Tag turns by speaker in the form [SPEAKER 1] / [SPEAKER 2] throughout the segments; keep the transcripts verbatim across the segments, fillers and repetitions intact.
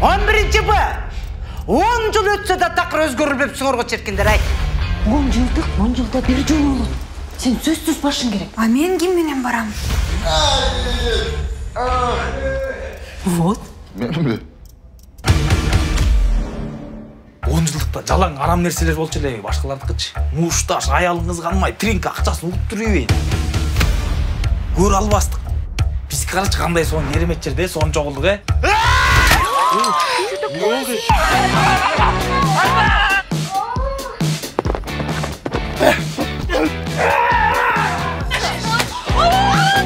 [SPEAKER 1] он биринчи Б. он жыл өтсө да такыр өзгөрүлбөпсүңөр го черкиндер, ай.
[SPEAKER 2] он жылдык, он жылда бир жолу болот. Сен сөзсүз башың керек.
[SPEAKER 3] А мен ким менен барам?
[SPEAKER 2] Вот.
[SPEAKER 4] Менби?
[SPEAKER 5] он жылдыкта жалаң арам нерселер болчу эле, башкалардыкычы. Мушташ, аялыңыз канмай, тринк акчасын угуп жүрбөйүн. Көр албастык. Биз карачы кандай сонун керемет жерде сонун чогулдук, э? Не болду?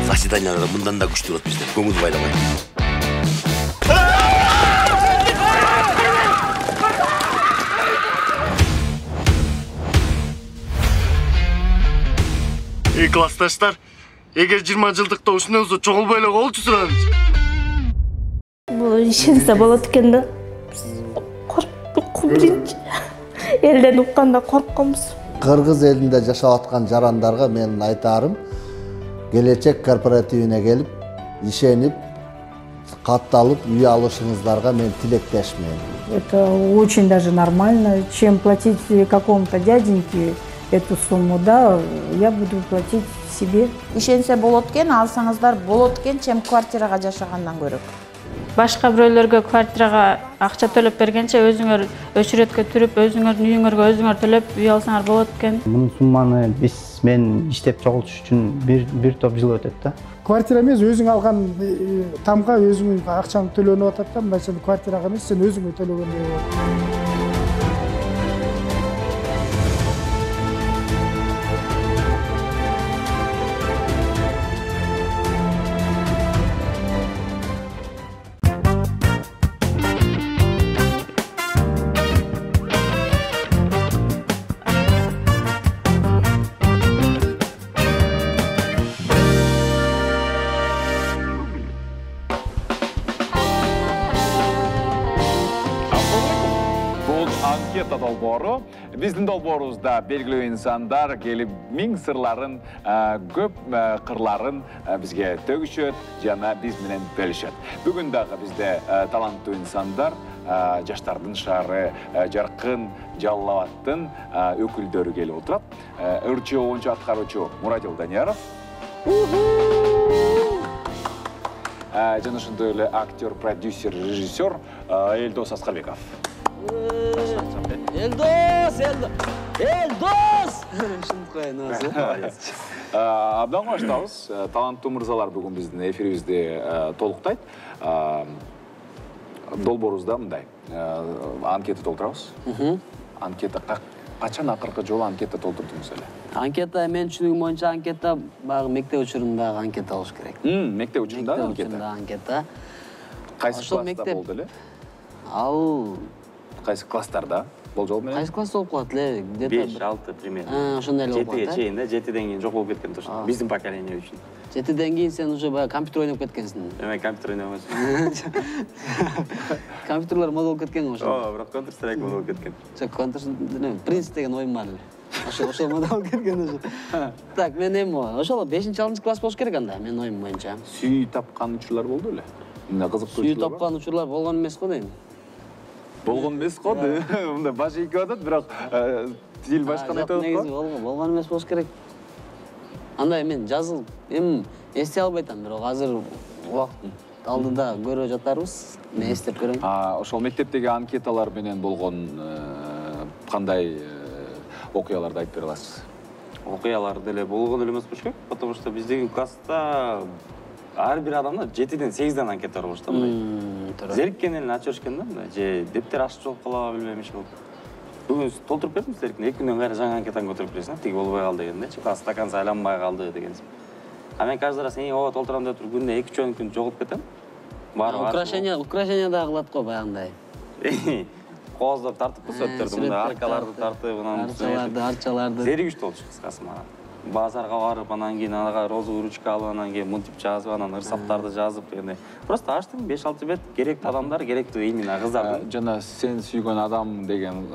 [SPEAKER 6] Заседаниялар мындан да күчтүү болот бизде. Көңүл байламай.
[SPEAKER 7] Эй, классташтар, эгер жыйырма жылдыкта ушундай болсо чогулбай эле коелучу суранычы.
[SPEAKER 8] Бул ишенсе болот экен да. Коркуп биринчи. Элден укканда коркконбуз.
[SPEAKER 9] Кыргыз элинде жашап аткан жарандарга менин айтарым, келечек корпоративине келип, ишенип, катталып, үй алышыңыздарга мен тилектешмин.
[SPEAKER 10] Это очень даже нормально, чем платить какому-то дяденьке эту сумму, да, я буду платить себе.
[SPEAKER 11] Ишенсе болот экен, алсаңыздар болот экен, чем квартирага жашагандан көрөк.
[SPEAKER 8] Башка бирөөлөргө квартирага акча төлөп бергенче өзүңөр өчүрөткө түрүп, өзүңөрдүн үйүңөргө өзүңөр төлөп үй алсаңар болот экен.
[SPEAKER 12] Мунун сумманы биз мен иштеп чогултуш үчүн бир бир топ жыл өтөт да.
[SPEAKER 10] Квартира эмес, өзүң алган тамга өзүң акчаны төлөнүп атат да, мындай квартирага эмес, сен өзүңө төлөгөндөй болот.
[SPEAKER 13] Анкета долбоору. Биздин долбоорубузда белгилүү инсандар келип миң сырларын, көп кырларын бизге төгүшөт жана биз менен бөлүшөт. Бүгүн дагы бизде таланттуу инсандар, жаштардын шаары, жаркын Жалал Абадтын өкүлдөрү келип отурат. Ырчы оюнчу аткаруучу Мурадил Данияров. Жана ошондой эле актер, продюсер, режиссер Элдос Аскарбеков.
[SPEAKER 14] Элдос, Элдос, Элдос! Шынт коюн өзү.
[SPEAKER 13] Абдан коштабыз. Таланттуу мырзалар бүгүн биздин эфирибизди толуктайт. Долбоорубузда мындай анкета толтурабыз. Анкета качан акыркы жолу анкета толтурдуңуз эле?
[SPEAKER 14] Анкета мен түшүнүгүм боюнча анкета баягы мектеп учурундагы анкета болуш керек.
[SPEAKER 13] Мектеп учурундагы анкета.
[SPEAKER 14] Анкета.
[SPEAKER 13] Кайсы класста болду эле?
[SPEAKER 14] Ал
[SPEAKER 13] кайсы класстарда болжол менен?
[SPEAKER 14] Кайсы класс болуп калат эле?
[SPEAKER 15] беш алты примерно.
[SPEAKER 14] Ошондой эле болуп калат.
[SPEAKER 15] жетиге чейин да, жетиден кийин жок болуп кеткен точно. Биздин поколение үчүн.
[SPEAKER 14] жетиден кийин сен уже баягы компьютер ойноп кеткенсиң.
[SPEAKER 15] Эме компьютер ойноп эмес.
[SPEAKER 14] Компьютерлер мода болуп кеткен го ошо.
[SPEAKER 15] Ооба, бирок Counter Strike мода болуп кеткен.
[SPEAKER 14] Жок, Counter Strike, Принц деген оюн бар эле. Ошо ошо мода болуп кеткен ошо. Так, мен эми ошол бешинчи алтынчы класс болуш керек анда, менин оюм боюнча.
[SPEAKER 13] Сүй тапкан учурлар болду эле? Мына кызыктуу
[SPEAKER 14] учурлар. Сүй тапкан учурлар болгон эмес го дейм.
[SPEAKER 13] Болгон эмес го дейм. Мында баш ийип атат, бирок тил башканы айтып атат го.
[SPEAKER 14] Болгон эмес болуш керек. Андай мен жазылып, эми эстей албай атам, бирок азыр убакыт алдыда көрө жатарбыз. Мен эстеп көрөм.
[SPEAKER 13] А ошол мектептеги анкеталар менен болгон кандай окуяларды айтып бере аласыз?
[SPEAKER 15] Окуялар деле болгон эле эмес болуш керек, потому что биздеги класста ар бир адамда жетиден сегизден анкета бар болуш да мындай. Зериккен эле ачып беришкен да мындай, же дептер ачып жолуп калабы билбейм иш болуп. Бүгүн толтуруп бердим силерге, эки күндөн кайра жаңы анкетаны көтөрүп бересиң, тиги болбой калды дегендечи, стакан сайланбай калды дегенсиң. А мен каждый раз эң ооба толтурам деп туруп күнүнө эки үч күн жоголуп кетем.
[SPEAKER 14] Украшение, украшение да кылат го баягындай.
[SPEAKER 15] Кооздоп тартыппыз өттөрдү, мында аркаларды тартып, анан
[SPEAKER 14] арчаларды, арчаларды.
[SPEAKER 15] Зеригиштүү болчу кыскасы мага. Базарга барып, анан кийин ага розовый ручка алып, анан кийин мынтип жазып, анан ырсаптарды жазып дегендей. Просто ачтым беш алты бет керектүү адамдар, керектүү именно кыздардын.
[SPEAKER 13] Жана сен сүйгөн адам деген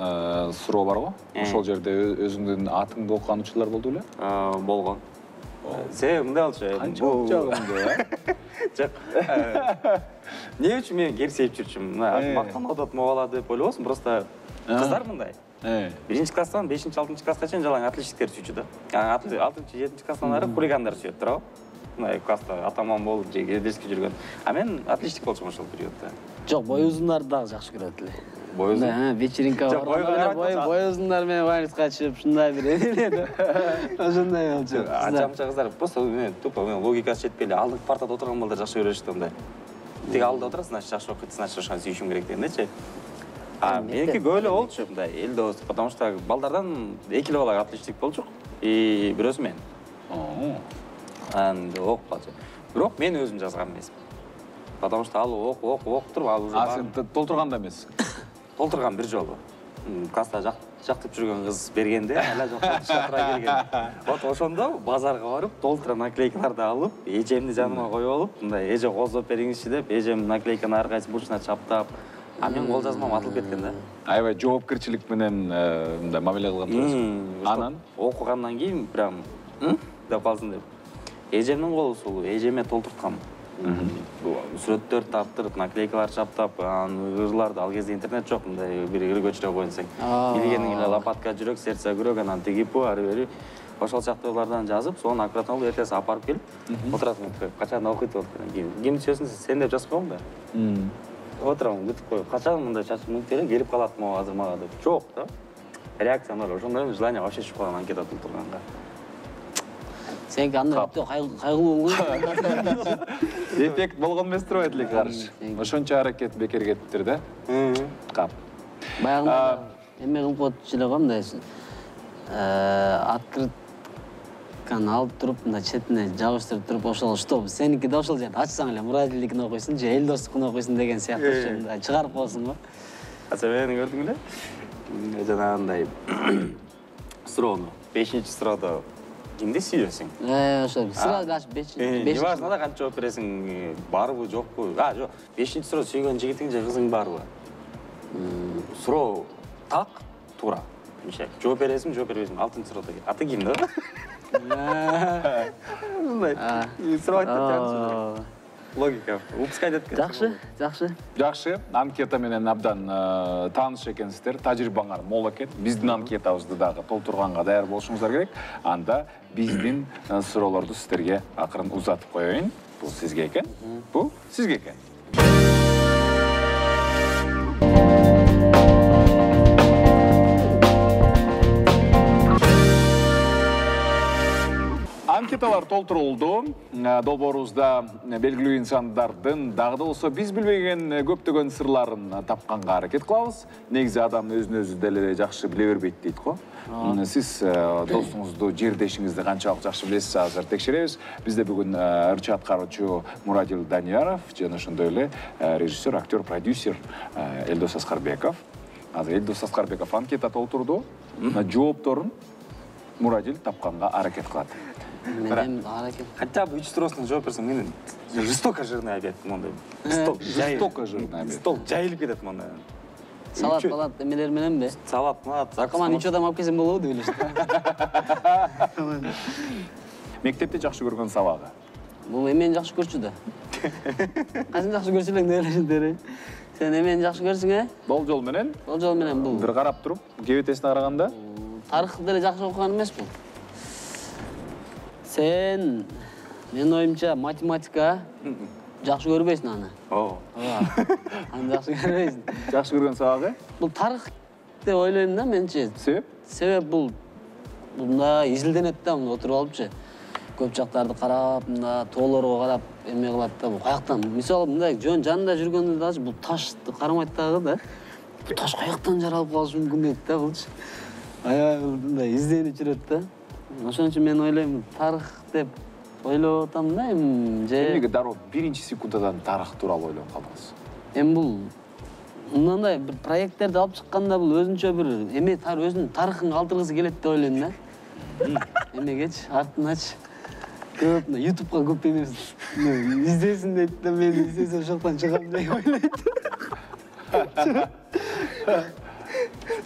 [SPEAKER 13] суроо бар го? Ошол жерде өзүңдүн атыңды окуган учурлар болду беле?
[SPEAKER 15] Болгон. себеби мындай болчу.
[SPEAKER 13] Канчалык жагымдуу, э?
[SPEAKER 15] Жок. Эмне үчүн мен кер сеип жүрчүмүн? Мына мактанып атат могала деп ойлобосуң, просто кыздар мындай. Биринчи класстан бешинчи алтынчы класска чейин жалаң отличниктер сүйчү да. алтынчы жетинчи класстан ары хулигандар сүйөт, туурабы? Мындай класста атаман болуп, же кирдеске жүргөн. А мен отличник болчумун ошол периоддо.
[SPEAKER 14] Жок, бой узундарды дагы жакшы көрөт эле.
[SPEAKER 15] Бой узун?
[SPEAKER 14] Вечеринка бар. Бой узундар менен вальска чыгып, ушундай бир эле. Ошондой болчу.
[SPEAKER 15] Ачамча кыздар просто мен тупо мен логикасы жетпей эле алдыңкы партада отурган балдар жакшы көрүшүптү мындай. Тиги алдыда отурасың, значит жакшы окуйт, значит ошону сүйүшүм керек дегендечи. А меники көп эле болчу мындай эл дос, потому что балдардан эки эле бала отличник болчук и бирөөсү мен. Анда окуп калчу. Бирок мен өзүм жазган эмесмин. Потому что ал окуп окуп окуп туруп ал уже
[SPEAKER 13] А сен толтурганда эмессиң?
[SPEAKER 15] Толтурган бир жолу. Класста жактып жүргөн кыз бергенде, ала жок толтура келген. Вот ошондо базарга барып, толтура наклейкаларды алып, эжемди жаныма коюп алып, мындай эже козоп бериңизчи деп, эжем наклейканы ар кайсы бурчуна чаптап, а мен кол жазмам атылып кеткен да.
[SPEAKER 13] Аябай жоопкерчилик менен мындай мамиле кылган турасың. Анан
[SPEAKER 15] окугандан кийин прям деп калсын деп. Эжемдин колу сулуу, эжеме толтурткам. Сүрөттөр таптырып, наклейкалар чаптап, ырларды ал кезде интернет жок, мындай бир ыр көчүрө коюнсаң. Билгениң эле лопатка жүрөк, сердце күрөк, анан тиги пу, ары бери. Ошол сыяктуулардан жазып, сону аккуратно алып, эртеси апарып келип, отурасың, качан окуйт болуп кеткен. Ким сөзүн сен деп жазып койгом да. Отурам, күтүп коюп, качан мындай чачып мүнүп эле келип калат могу азыр мага деп. Жок да. Реакциям бар, ошондой желание вообще түшүп калган анкета толтурганга.
[SPEAKER 14] Сенки андай кайгылуу болгон.
[SPEAKER 13] Эффект болгон эмес турбайт эле каршы. Ошончо аракет бекер кетиптир да. Кап.
[SPEAKER 14] Баягында эме кылып коюп эле го мындай открытканы алып туруп, мындай четине жабыштырып туруп, ошол что, сеники да ошол жерде ачсаң эле мурабилдикин окуйсуң, же эл достукун окуйсуң деген сыяктуу мындай чыгарып коесуң го.
[SPEAKER 15] Аса мени көрдүң эле? Жанагындай суроону, бешинчи суроодо кимди сүйөсүң?
[SPEAKER 14] Э, ошо сразу аш бешинчи.
[SPEAKER 15] Не важно да канча жооп бересиң, барбы, жокпу? А, жок, бешинчи суроо сүйгөн жигитиң же кызың барбы? Суроо так, туура. Жооп бересиң, жооп бербейсиң. Алтынчы суроодо аты ким да? Мындай. Суроо айтат. Логика. Упускай деп кетти.
[SPEAKER 14] Жакшы, жакшы.
[SPEAKER 13] Жакшы. Анкета менен абдан тааныш экенсиздер. Тажрыйбаңар мол экен. Биздин анкетабызды дагы толтурганга даяр болушуңуздар керек. Анда биздин суроолорду сиздерге акырын узатып коеюн. Бул сизге экен. Бул сизге экен. Анкеталар толтурулду. Долбоорубузда белгилүү инсандардын дагы да болсо биз билбеген көптөгөн сырларын тапканга аракет кылабыз. Негизи адам өзүн өзү деле жакшы биле бербейт дейт го. Сиз досуңузду, жердешиңизди канчалык жакшы билесиз, азыр текшеребиз. Бизде бүгүн ырчы аткаруучу Мурадил Данияров жана ошондой эле режиссер, актер, продюсер Элдос Аскарбеков. Азыр Элдос Аскарбеков анкета толтурду. Жоопторун Мурадил тапканга аракет кылат.
[SPEAKER 14] Мен аракет.
[SPEAKER 15] Хотя бы үч суроосуна жооп берсең, мен жестоко жирный обед мондай.
[SPEAKER 13] Жестоко жирный обед.
[SPEAKER 15] Стол жайылып кетет мондай.
[SPEAKER 14] Салат, салат эмелер мененби?
[SPEAKER 15] Салат, салат.
[SPEAKER 14] Закаман үч адам алып келсем болобу деп элештим.
[SPEAKER 13] Мектепте жакшы көргөн сабагы?
[SPEAKER 14] Бул эмени жакшы көрчү да. Кайсын жакшы көрчү элең деп элештим. Сен эмени жакшы көрсүң, э?
[SPEAKER 13] Болжол менен?
[SPEAKER 14] Болжол менен бул.
[SPEAKER 13] Бир карап туруп, кебетесине караганда?
[SPEAKER 14] Тарыхты деле жакшы окуган эмеспи? Сен, менин оюмча, математика жакшы көрбөйсүң аны.
[SPEAKER 15] Ооба.
[SPEAKER 14] Аны жакшы көрбөйсүң.
[SPEAKER 13] Жакшы көргөн сабагы?
[SPEAKER 14] Бул тарых деп ойлойм да менчи.
[SPEAKER 13] Себеп?
[SPEAKER 14] Себеп бул мындай изилденет да, мына отуруп алыпчы. Көп жактарды карап, мына тоолорго карап эме кылат да, бул каяктан? Мисалы мындай жөн жанында жүргөндө дагы бул ташты карамайт дагы да. Бул таш каяктан жаралып калышы мүмкүн дейт да булчу. Аябай мындай изденип жүрөт да. Ошон үчүн мен ойлойм, тарых деп ойлоп атам да, эми же
[SPEAKER 13] эмнеге дароо биринчи секундадан тарых тууралуу ойлоп калдыңыз?
[SPEAKER 14] Эми бул мындай бир проекттерди алып чыкканда бул өзүнчө бир эме өзүнүн тарыхын калтыргысы келет деп ойлойм да. Эмегечи, артынач. Көп ютубка көп эмес издесин дейт да, мен издесем ошоктон чыгам деп ойлойт.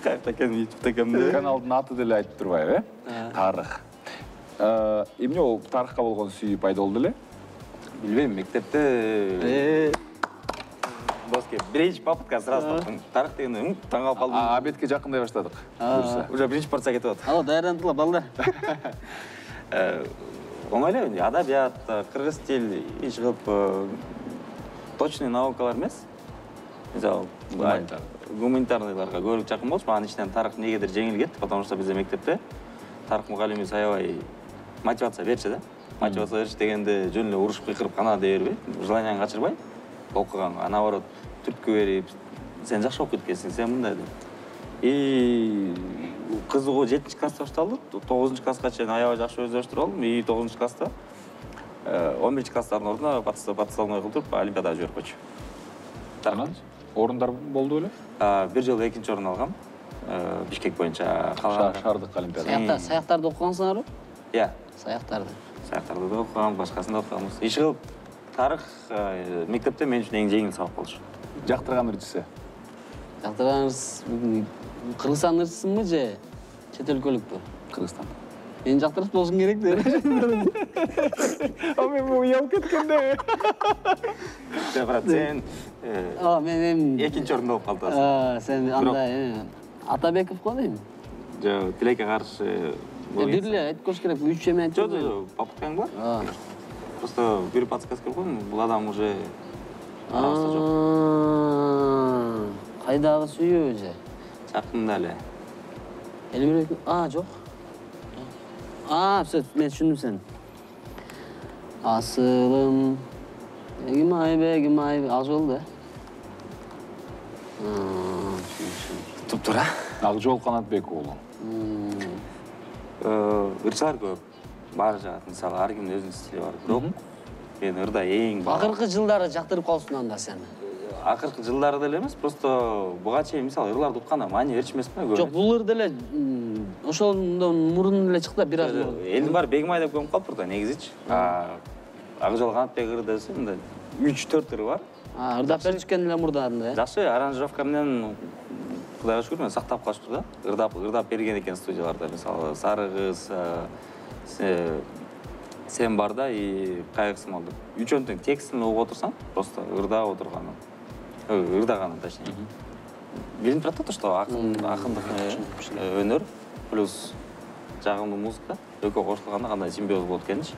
[SPEAKER 15] Кайта экен ютубта кемде?
[SPEAKER 13] Каналдын аты деле айтып турбайбы, э? Тарых. Эмне ол тарыхка болгон сүйүү пайда болду эле?
[SPEAKER 15] Билбейм, мектепте Боске, биринчи попытка сразу таптым. Тарых дегенде таң калып калдым.
[SPEAKER 13] Обедке жакындай баштадык.
[SPEAKER 15] Уже биринчи порция кетип атат.
[SPEAKER 14] Ало, даярдандылар балдар.
[SPEAKER 15] Оңой эле, адабият, кыргыз тил, иш кылып точный наукалар эмес. Мисалы, гуманитарныйларга көрүп жакын болчу. Анын ичинен тарых негедир жеңил кетти, потому что бизде мектепте тарых мугалими аябай мотивация берчү да. Мотивация берчү дегенде жөн эле урушуп кыйкырып кана дей бербей, желанияң качырбай, окуган, наоборот, түрткү берип, сен жакшы окуп кеткенсиң, сен мындай деп. И кызыгуу жетинчи класста башталды, тогузунчу класска чейин аябай жакшы өздөштүрүп алдым. И тогузунчу класста он биринчи класстардын ордуна потенциалный кылдырып олимпиадага жиберип койчу.
[SPEAKER 13] Анан орундар болду беле?
[SPEAKER 15] Бир жолу экинчи орун алгам. Бишкек боюнча
[SPEAKER 13] шаардык олимпиада.
[SPEAKER 14] Саяктарды окугансыңарбы?
[SPEAKER 15] Иә.
[SPEAKER 14] Саяктарды.
[SPEAKER 15] Саяктарды да окугам, башкасын да окуганбыз. Иш кылып тарых мектепте мен үчүн эң жеңил сабак болчу.
[SPEAKER 13] Жактырган ырчысы?
[SPEAKER 14] Жактырган ырчысы Кыргызстан ырчысымбы же чет өлкөлүкпү?
[SPEAKER 13] Кыргызстан.
[SPEAKER 14] Мен жактырып болушум керек деп.
[SPEAKER 13] А мен уялып кеткенде.
[SPEAKER 15] Брат, сен
[SPEAKER 14] А, мен
[SPEAKER 15] экинчи орунда болуп калдың.
[SPEAKER 14] А, сен андай Атабеков го дейм.
[SPEAKER 15] Жок, Тилекке каршы
[SPEAKER 14] бир эле айтып коюш керек, үч эме айтып.
[SPEAKER 15] Жок, жок, попыткаң бар. Просто бир подсказка койдум, бул адам уже арабызда жок.
[SPEAKER 14] Кайдагы сүйүү же?
[SPEAKER 15] Жакында эле.
[SPEAKER 14] Элбирек, а, жок. А, все, мен түшүндүм сени. Асылым, Эгимай, Эгимай, ал жол да.
[SPEAKER 15] Туп-тура.
[SPEAKER 13] Акжол Канатбек уулу.
[SPEAKER 15] Ырчалар көп. Бар жагат, мисалы, ар кимдин өзүнүн стили бар. Бирок мен ырда эң баа.
[SPEAKER 14] Акыркы жылдары жактырып калсың анда сен.
[SPEAKER 15] Акыркы жылдары деле эмес, просто буга чейин мисалы ырларды укканда маани берчү эмесмин да.
[SPEAKER 14] Жок, бул ыр деле ошондон мурун эле чыкты, бир аз мурун.
[SPEAKER 15] Элдин баары Бегимай деп көмүп калыптыр да негизичи. Акжол Канатбек ыры десе, мындай үч төрт ыры бар.
[SPEAKER 14] А, ырдап беришкен эле мурдагында.
[SPEAKER 15] Жакшы, аранжировка менен Кудайга шүгүр, мен сактап калыштыр да. Ырдап, ырдап берген экен студияларда, мисалы, Сары кыз, Сен барда и Кайгысым алды. Үчөөнүн тең текстин угуп отурсаң, просто ырдап отурганым. Ырдаганым, точнее. Билинип турат да, что акындык өнөр плюс жагымдуу музыка экөө кошулганда кандай симбиоз болот экенчи.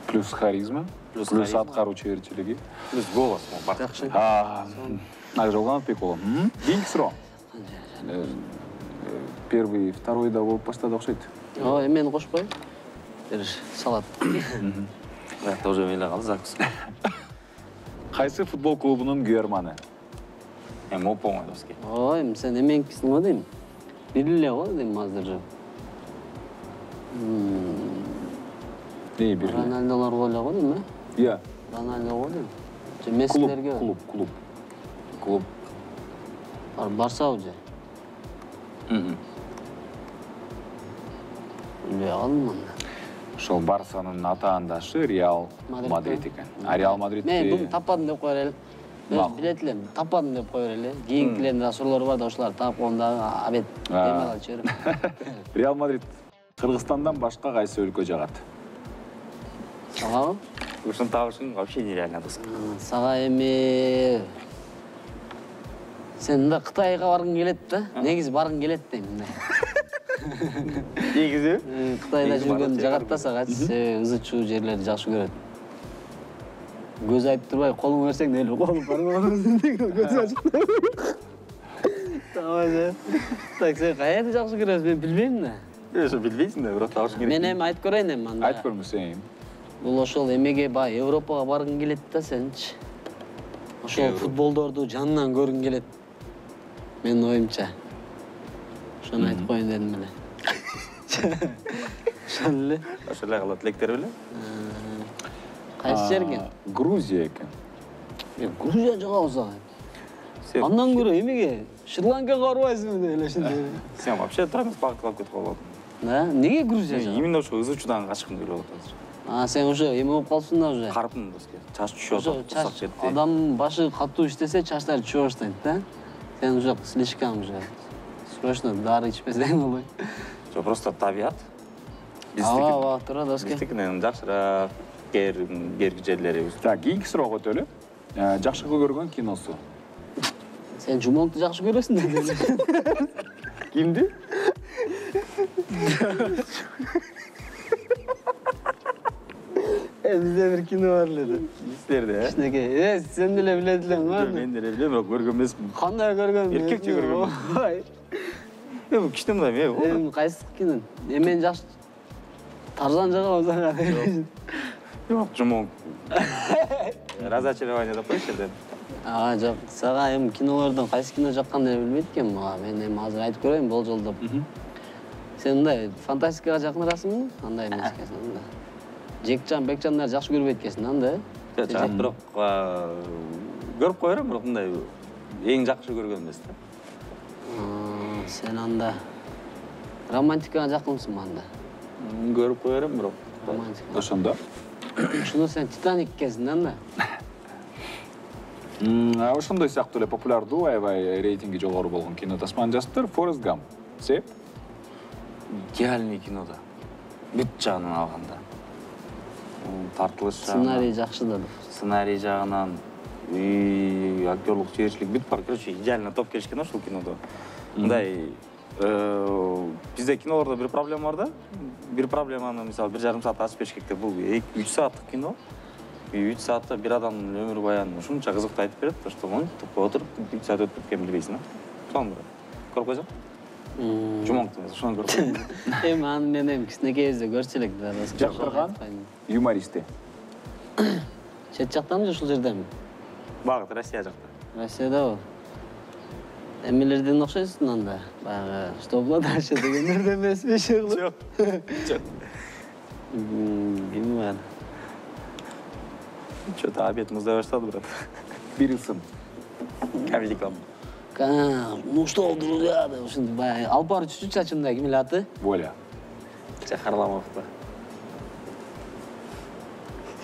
[SPEAKER 13] Плюс харизма, плюс аткаруучу эрчилиги,
[SPEAKER 15] плюс голос.
[SPEAKER 14] Жакшы.
[SPEAKER 13] Акжол Канатбек уулу. Кийинки суроо. Первый, второй да болуп баштады окшойт.
[SPEAKER 14] О, эмени кошпой. Бериш, салат.
[SPEAKER 15] Это уже мейле калды закус.
[SPEAKER 13] Кайсы футбол клубунун күйөрманы?
[SPEAKER 15] Эми оп оңой доске.
[SPEAKER 14] Ой, сен эменкисиң го дейм. Бир эле го дейм азыр.
[SPEAKER 13] Не бир эле?
[SPEAKER 14] Роналдолор эле го дейм, э?
[SPEAKER 13] Иә.
[SPEAKER 14] Роналдо го дейм. Же Мессилерге?
[SPEAKER 13] Клуб, клуб.
[SPEAKER 15] Клуб.
[SPEAKER 14] Барса уже.
[SPEAKER 15] Мм.
[SPEAKER 14] Билбей калдым анда.
[SPEAKER 13] Ошол Барсанын атаандашы Реал Мадрид экен. А Реал Мадридти
[SPEAKER 14] мен буну таппадым деп кое берели. Мен билет элем, таппадым деп кое берели. Кийинкилердин да суроолору бар да, ошолорду таап коюмда абет эме алып жиберем.
[SPEAKER 13] Реал Мадрид Кыргызстандан башка кайсы өлкө жагат?
[SPEAKER 14] Сага?
[SPEAKER 15] Ушуну табышың вообще нереально доске.
[SPEAKER 14] Сага эми сен да Кытайга баргың келет да? Негизи баргың келет дейм мындай.
[SPEAKER 15] Негизи?
[SPEAKER 14] Кытайда жүргөн жагат да сага, ызы чуу жерлерди жакшы көрөт. Көз айтып турбай, колуңду берсең эле колуң барбаган көз ачып. Тамаша. Так, сен каерди жакшы көрөсүң, мен билбейм да.
[SPEAKER 15] Ошо билбейсиң да, бирок табышың керек.
[SPEAKER 14] Мен эми айтып көрөйүн эми анда.
[SPEAKER 13] Айтып көрмөсөң.
[SPEAKER 14] Бул ошол эмеге баа Европага баргың келет да сенчи. Ошол футболдорду жанынан көргүң келет. Менин оюмча. Ошону айтып коеюн дедим эле. Ошол эле.
[SPEAKER 15] Ошол эле кала тилектер беле?
[SPEAKER 14] Кайсы жер экен?
[SPEAKER 13] Грузия экен.
[SPEAKER 14] Грузия жагабыз ага. Андан көрө эмеге Шри-Ланкага барбайсыңбы деп элешинде.
[SPEAKER 15] Сен вообще тура эмес багыт кылып кетип калдың.
[SPEAKER 14] Да, неге Грузия жагат?
[SPEAKER 15] Именно ошо ызы чуудан качкым келип атат азыр.
[SPEAKER 14] А, сен уже эме болуп калыпсың да уже.
[SPEAKER 15] Карпым доске. Чач түшүп атат, усак жерде.
[SPEAKER 14] Адам башы катуу иштесе, чачтары түшө баштайт да. Сен уже слишком уже. Срочно дары ичпесең болбойт.
[SPEAKER 15] Жок, просто табият.
[SPEAKER 14] Ооба, ооба, турат Оскар.
[SPEAKER 15] Биздикинен жакшыраак берки жерлерибиз.
[SPEAKER 13] Так, кийинки суроого өтөлү. Жакшы көргөн киносу.
[SPEAKER 14] Сен Жумолту жакшы көрөсүң деди.
[SPEAKER 13] Кимди?
[SPEAKER 14] Bizde bir kino var dedi.
[SPEAKER 15] Bizlerde.
[SPEAKER 14] Kişneke. E, sen de biledilen var mı?
[SPEAKER 15] Ben de bilemiyorum, yok görgön emasmın.
[SPEAKER 14] Qanday görgön?
[SPEAKER 15] Erkekçe görgön.
[SPEAKER 14] Vay.
[SPEAKER 15] E, bu kiştem da men.
[SPEAKER 14] Em, qayсы kino? E, men жакшы Tarzan жака озага.
[SPEAKER 15] Yok, Жумол. Разочарование деп коюшу деп.
[SPEAKER 14] А, жок, сага эми кинолордон кайсы кино жакканды билбейт экенмин. Мага мен эми азыр айтып көрөйүн болжолдоп. Сен мындай фантастикага жакынырасыңбы? Андай эмес экенсиң да. Жекжан, Бекжандар жакшы көрбөйт экенсиң, анда?
[SPEAKER 15] Жак, бирок көрүп кое берем, бирок мындай эң жакшы көргөн эмес да.
[SPEAKER 14] Сен анда романтикага жакынсың анда?
[SPEAKER 15] Көрүп кое берем, бирок
[SPEAKER 14] романтика.
[SPEAKER 13] Ошондо.
[SPEAKER 14] Ошондо сен Титаник экенсиң, анда?
[SPEAKER 13] Ошондой сыяктуу эле популярдуу, аябай рейтинги жогору болгон кино тасманы жазыптыр. Форест Гамп. Себеп?
[SPEAKER 15] Идеальный кино да. Бүт жагынан алганда. Тартылыш жагынан.
[SPEAKER 14] Сценарий жакшы да.
[SPEAKER 15] Сценарий жагынан, актерлук чеберчилик бүт бар. Короче, идеально топ келишкен ошол кинодо. Мындай бизде кинолордо бир проблема бар да. Бир проблеманы, мисалы, бир жарым саат ачып бериш керек деп, бул үч сааттык кино. үч саатта бир адамдын өмүр баянын ушунча кызыктуу айтып берет, что монтип отуруп үч саат өтүп кеткенин билбейсиң да. Сону көрүп койсоң. Жумоңду ошону көрүп койсоң.
[SPEAKER 14] Эми аны мен эми кичинекейибизде көрчү элек да.
[SPEAKER 13] Жактырган юмористи.
[SPEAKER 14] Чет жактанбы же ушул жерденби?
[SPEAKER 15] Багыт Россия жакта.
[SPEAKER 14] Россиядабы? Эмелерден окшойсуң анда. Баягы что было дальше дегендерден эмесби иши кылып?
[SPEAKER 15] Жок. Жок.
[SPEAKER 14] Билбейм.
[SPEAKER 15] Что-то обед муздай баштады, брат.
[SPEAKER 13] Бир ысым.
[SPEAKER 15] Камедикам.
[SPEAKER 14] Ну что, друзья, да, ушундай баягы алпар чүчү чачындай ким эле аты?
[SPEAKER 13] Воля.
[SPEAKER 15] Харламов да.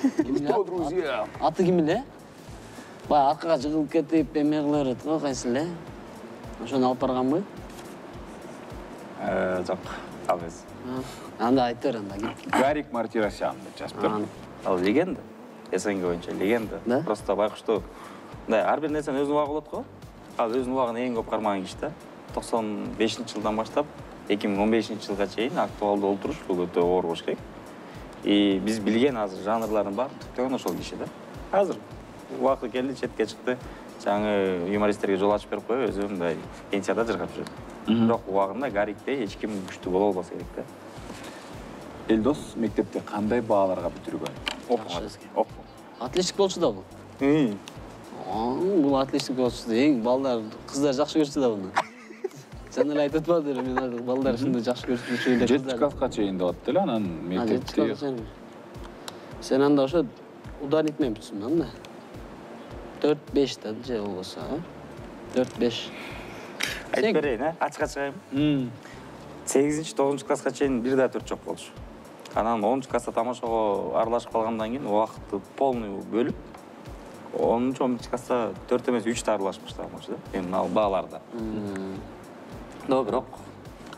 [SPEAKER 13] Что, друзья?
[SPEAKER 14] Аты ким эле? Баягы аркага жыгылып кетип, эме кыла берет го, кайсы эле? Ошону алып барганбы?
[SPEAKER 15] Э, жок, ал эмес.
[SPEAKER 14] Анда айтып бер анда.
[SPEAKER 13] Гарик Мартиросян деп жазыптыр.
[SPEAKER 15] Ал легенда. СНГ боюнча легенда. Просто байкуштуу мындай ар бир нерсенин өзүнүн убагы болот го. Ал өзүнүн убагын эң көп кармаган киши да. токсон бешинчи жылдан баштап эки миң он бешинчи жылга чейин актуалдуу болуп туруш бул өтө оор болуш керек. И биз билген азыр жанрлардын баары түптөгөн ошол киши да. Азыр убакыты келди, четке чыкты. Жаңы юмористтерге жол ачып берип коюп, өзү мындай пенсияда жыргап жүрөт. Бирок убагында Гариктей эч ким күчтүү боло албаса керек да.
[SPEAKER 13] Элдос мектепте кандай бааларга бүтүргөн?
[SPEAKER 14] Оп. Отличник болчу да бул. Бул отличник болчу да. Эң балдар, кыздар жакшы көрчү да буну. Сен эле айтып атпадың, мен айттым, балдар ушундай жакшы көрчү эле.
[SPEAKER 13] жетинчи класска чейин деп атты эле, анан мектепте.
[SPEAKER 14] Сен анда ошо ударник менен бүтсүң анда. төрт беш да же болбосо, а? төрт беш.
[SPEAKER 15] Айтып берейин, а? Ачыкка чыгайын. сегизинчи тогузунчу класска чейин бир да төрт жок болчу. Анан онунчу класста тамашага аралашып калгандан кийин убакытты полный бөлүп, онунчу он биринчи класста төрт эмес үч да аралашып баштаган болчу да. Эми ал бааларда. Но бирок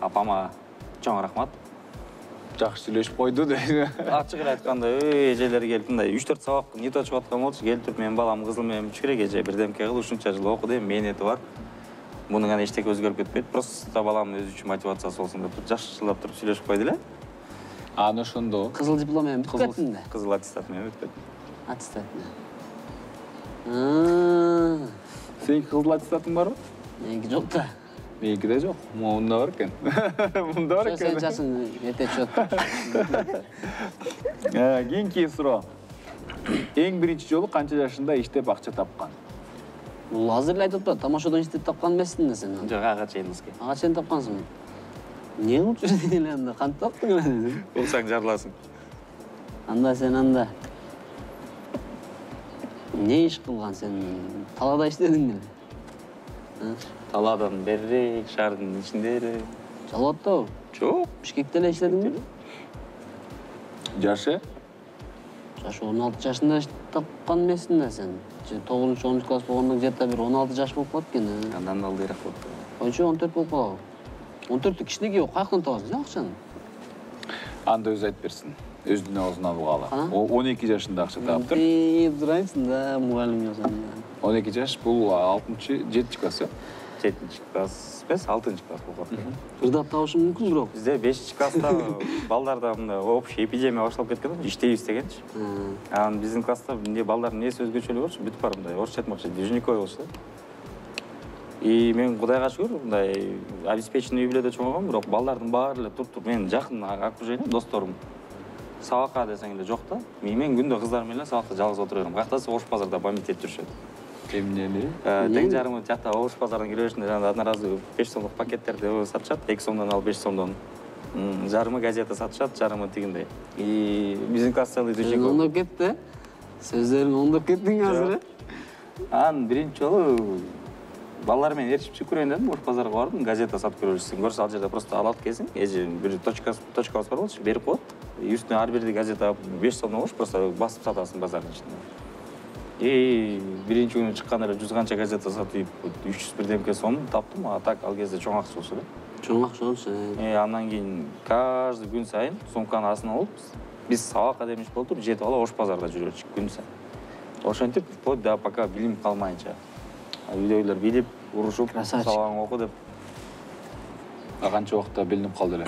[SPEAKER 15] апама чоң рахмат.
[SPEAKER 13] Жакшы сүйлөшүп койду дейт.
[SPEAKER 15] Ачык эле айтканда, эй, эжелер келип мындай үч төрт сабак нетип чыгып аткан болчу, келип менин балам кызыл менен үч керек эже, бирдемке кыл, ушунча жыл окуду, эми мээнети бар. Мунун гана эчтеке өзгөрүп кетпейт, просто баламдын өзү үчүн мотивациясы болсун деп жакшылап туруп сүйлөшүп койду эле.
[SPEAKER 13] Аны ошондо
[SPEAKER 14] кызыл диплом менен бүтүп кеттиң да?
[SPEAKER 15] Кызыл аттестат менен бүтүп кеттим.
[SPEAKER 14] Аттестат менен.
[SPEAKER 13] Сенин кызыл аттестатың барбы?
[SPEAKER 14] Меники жок да.
[SPEAKER 13] Меники жок. Мында бар экен. Мында бар экен.
[SPEAKER 14] Сен жасың эте чөт.
[SPEAKER 13] Кийинки суроо. Эң биринчи жолу канча жашында иштеп акча тапкан?
[SPEAKER 14] Бул азыр эле айтып атпадым, тамашадан иштеп тапкан эмессиң да сен.
[SPEAKER 15] Жок, ага чейин эске.
[SPEAKER 14] Ага чейин тапкансың. Не кылып жүрсүң эле анда? Кантип таптың эле?
[SPEAKER 15] Болсаң жарласың.
[SPEAKER 14] Анда сен анда не иш кылган сен? Талаада иштедиң эле?
[SPEAKER 15] Талаадан берирээк, шаардын ичинде.
[SPEAKER 14] Жалал атабы?
[SPEAKER 15] Жок.
[SPEAKER 14] Бишкекте эле иштедиңби?
[SPEAKER 13] Жашы?
[SPEAKER 14] Жашы он алты жашында тапкан эмессиң да сен. тогузунчу онунчу класс болгондо где-то бир он алты жаш болуп калат экен.
[SPEAKER 15] Андан алдыйраак болуп калды.
[SPEAKER 14] Койчу он төрт болуп калабы? он төрттү кичинекей каяктан табасың акчаны?
[SPEAKER 13] Анда өзү айтып берсин. Өзүнүн оозуна алгалы. он эки жашында акча таптыр.
[SPEAKER 14] Ийип турайсың да, мугалим болсоң.
[SPEAKER 13] он эки жаш бул алтынчы, жетинчи класс, э?
[SPEAKER 15] жетинчи класс эмес, алтынчы класс болот.
[SPEAKER 14] Ырдап табышы мүмкүн бирок.
[SPEAKER 15] Бизде бешинчи класста балдарда мындай общий эпидемия башталып кеткен, иштейбиз дегенчи. Анан биздин класста эмне балдардын несі өзгөчөлүк болчу, бүтүп барып мындай орусча айтмакчы движниковый болчу да. И мен Кудайга шүгүр, мындай обеспеченный үй бүлөдө чоңойгом, бирок балдардын баары эле туруп-туруп менин жакын окружением, досторум сабакка десең эле жок да. Мен күндө кыздар менен сабакта жалгыз отура берем. Каяктасы Ош базарда бомбить этип жүрүшөт.
[SPEAKER 13] Эмнени?
[SPEAKER 15] Тең жарымы жакта Ош базарына кире беришинде жана одноразовый беш сомдук пакеттерди сатышат, эки сомдон алып беш сомдон. Жарымы газета сатышат, жарымы тигиндей. И биздин класс целый движник.
[SPEAKER 14] Ондоп кетти. Сөздөрүң ондоп кеттиң азыр.
[SPEAKER 15] Анан биринчи жолу балдар менен ээрчип чыгып көрөйүн дедим, Ош базарга бардым, газета сатып көрөлүшсүң. Көрсө ал жерде просто алат келсең, эже бир точка точкабыз бар болчу, берип коет. Үстүнө ар бир газета беш сомдон болчу, просто басып сатасың базардын ичинде. И биринчи күнү чыкканда эле жүз канча газета сатып, үч жүз бирдемке сом таптым, а так ал кезде чоң акча болчу да.
[SPEAKER 14] Чоң акча болчу.
[SPEAKER 15] Э, андан кийин каждый күн сайын сумканы астына алып, биз сабакка демиш болуп жетип алып Ош базарда жүрөчүк күн сайын. Ошентип, вплоть до пока билим калмайынча. Үйдөгүлөр билип, урушуп, сабагың оку деп.
[SPEAKER 13] А канча убакытта билинип калды эле?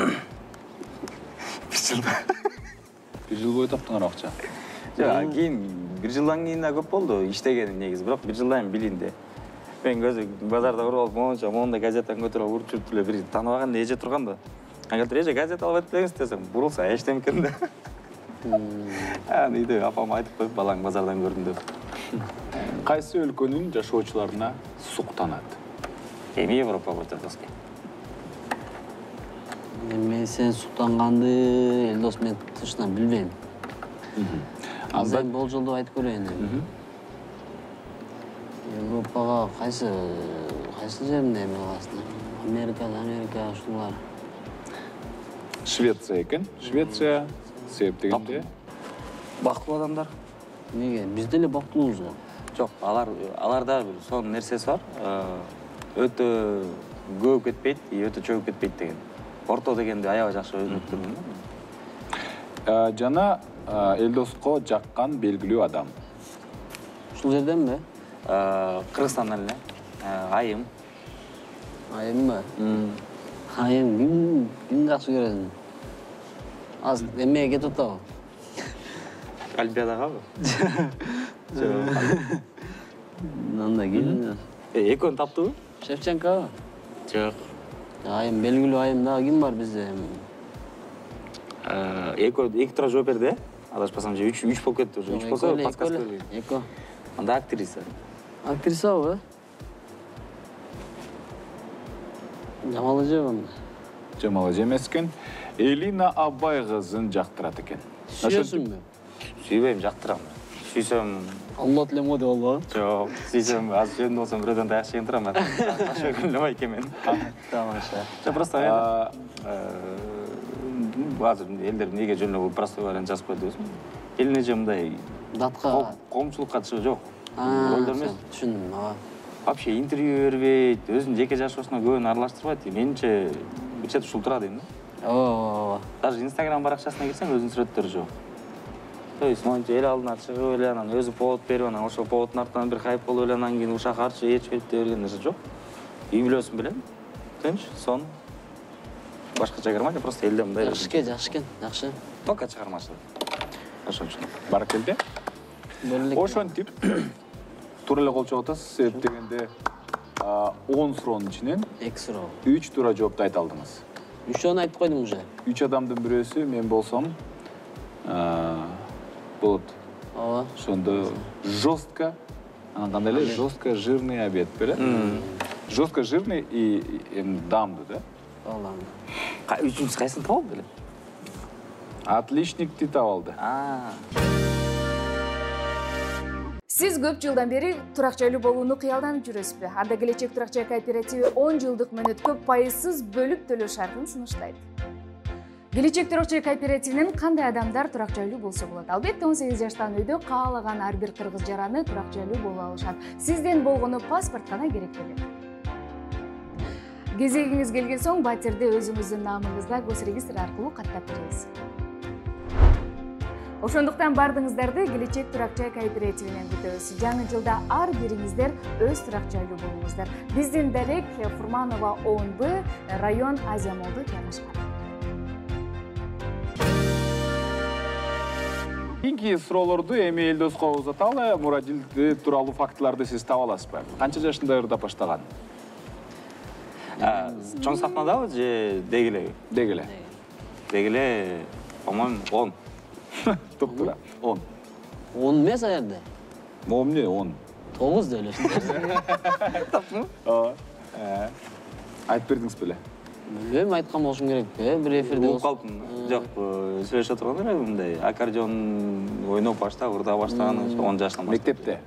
[SPEAKER 15] Бир жыл.
[SPEAKER 13] Бир жыл бою таптыңар акча.
[SPEAKER 15] Жок, кийин бир жылдан кийин да көп болду иштегеним негизи, бирок бир жылдан кийин билинди. Мен көзү базарда уруп алып, монча мондай газетаны көтөрүп уруп жүрүп эле бир тааныбаган эже турганда. Эгер эже газета алып атып бериңиз десем, бурулса эчтем экен да. Анан үйдө апам айтып коюп, балаң базардан көрдүм деп.
[SPEAKER 13] Кайсы өлкөнүн жашоочуларына суктанат?
[SPEAKER 15] Эми Европа боюнча тоскай.
[SPEAKER 14] Мен сен суктанганды Элдос мен тышынан билбейм. Азыр болжолдоп айтып көрөйүн. Европага кайсы кайсы жеринде эме каласың? Америка, Америка ушулар.
[SPEAKER 13] Швеция экен. Швеция себеп дегенде
[SPEAKER 15] бактылуу адамдар.
[SPEAKER 14] Неге? Биз деле бактылуубуз го.
[SPEAKER 15] Жок, алар аларда бир сонун нерсеси бар. Өтө көп кетпейт, өтө чөгүп кетпейт деген. Орто дегенди аябай жакшы өнүктү турмун.
[SPEAKER 13] Жана Элдоско жаккан белгилүү адам.
[SPEAKER 14] Ушул жерденби?
[SPEAKER 15] Кыргызстандан эле. Айым.
[SPEAKER 14] Айымбы? Айым ким ким жакшы көрөсүң? Азыр эмеге кетип атабы?
[SPEAKER 15] Олимпиадагабы?
[SPEAKER 14] Жок. Мындай ким?
[SPEAKER 15] Экөөнү таптыбы?
[SPEAKER 14] Шевченкобу?
[SPEAKER 15] Жок.
[SPEAKER 14] Айым белгилүү айым дагы ким бар бизде?
[SPEAKER 15] Экөө эки тура жооп берди, э? Адашпасам же үч үч болуп кетти уже. үч болсо подсказка берейин.
[SPEAKER 14] Эко.
[SPEAKER 15] Анда актриса.
[SPEAKER 14] Актрисабы? Жамал эжеби?
[SPEAKER 13] Жамал эже эмес экен. Элина Абай кызын жактырат экен.
[SPEAKER 14] Сүйөсүңбү?
[SPEAKER 15] Сүйбөйм, жактырам. Сүйсөм
[SPEAKER 14] Алла тилем го деп албабы?
[SPEAKER 15] Жок, сүйсөм азыр жөнүндө болсом бирөөдөн даяк жеген турам. Ошо күнү экен мен.
[SPEAKER 14] Тамаша.
[SPEAKER 15] Жок, просто азыр элдер эмнеге жөнүндө простой вариант жазып койду десем. Элине же мындай
[SPEAKER 14] датка
[SPEAKER 15] коомчулукка чыгы жок.
[SPEAKER 14] Ролдор эмес. Түшүндүм, ага.
[SPEAKER 15] Вообще интервью бербейт, өзүнүн жеке жашоосуна көбүн аралаштырбайт. Менимче бир чет ушул тура дейм да.
[SPEAKER 14] Ооба.
[SPEAKER 15] Даже Instagram баракчасына кирсең өзүнүн сүрөттөрү жок. То есть монча эл алдына чыгып эле анан өзү повод берип анан ошол поводдун артынан бир хайп болуп эле анан кийин ушак арчы эч берип берген нерсе жок. Үй бүлөсүн билем. Тынч, сон. Башка чыгармайт, просто элде мындай.
[SPEAKER 14] Жакшы экен, жакшы экен, жакшы.
[SPEAKER 15] Только чыгармачылык.
[SPEAKER 13] Ошончо. Баракелде. Ошентип туура эле кол чогуу атасыз, себеп дегенде он суроонун ичинен
[SPEAKER 14] эки суроо.
[SPEAKER 13] үч туура жоопту айта алдыңыз.
[SPEAKER 14] Үчөөнү айтып койдум уже.
[SPEAKER 13] Үч адамдын бирөөсү мен болсом болот.
[SPEAKER 14] Ооба.
[SPEAKER 13] Ошондо жестко, анан кандай эле жестко жирный обед беле? Жестко жирный и дамды, да?
[SPEAKER 14] Ооба.
[SPEAKER 15] Үчүнчүсү кайсын таап алды эле?
[SPEAKER 13] Отличникти таап алды.
[SPEAKER 3] Сиз көп жылдан бери турак жайлуу болууну кыялданып жүрөсүзбү? Анда келечек турак жай кооперативи он жылдык мөөнөткө пайызсыз бөлүп төлөө шартын сунуштайт. Келечек турак жай кооперативинен кандай адамдар турак жайлуу болсо болот? Албетте он сегиз жаштан өйдө каалаган ар бир кыргыз жараны турак жайлуу боло алышат. Сизден болгону паспорт гана керек белет. Кезегиңиз келген соң батирди өзүңүздүн намыңызда госрегистр аркылуу каттап беребиз. Ошондуктан бардыгыңыздарды келечек турак жай кооперативинен күтөбүз. Жаңы жылда ар бириңиздер өз турак жайлуу болуңуздар. Биздин дарек Фурманова он Б, район Азия Молдо жайгашкан.
[SPEAKER 13] Кийинки суроолорду эми Элдоско узаталы. Мурадил тууралуу фактыларды сиз таба аласызбы? Канча жашында ырдап баштаган?
[SPEAKER 15] Чоң сахнадабы же дегеле?
[SPEAKER 13] Дегеле.
[SPEAKER 15] Дегеле, по-моему, он.
[SPEAKER 13] Топтура. он.
[SPEAKER 14] он эмес а жерде.
[SPEAKER 13] Могу эмне он?
[SPEAKER 14] тогуз деп эле.
[SPEAKER 13] Таптыңбы? Ооба. Айтып бердиңиз беле?
[SPEAKER 14] Билбейм, айткан болушум керекпи? Бир эфирде
[SPEAKER 15] угуп калдым. Жок, сүйлөшүп отурганда эле мындай аккордеон ойноп баштап, ырда баштаган он жаштан баштап.
[SPEAKER 13] Мектепте?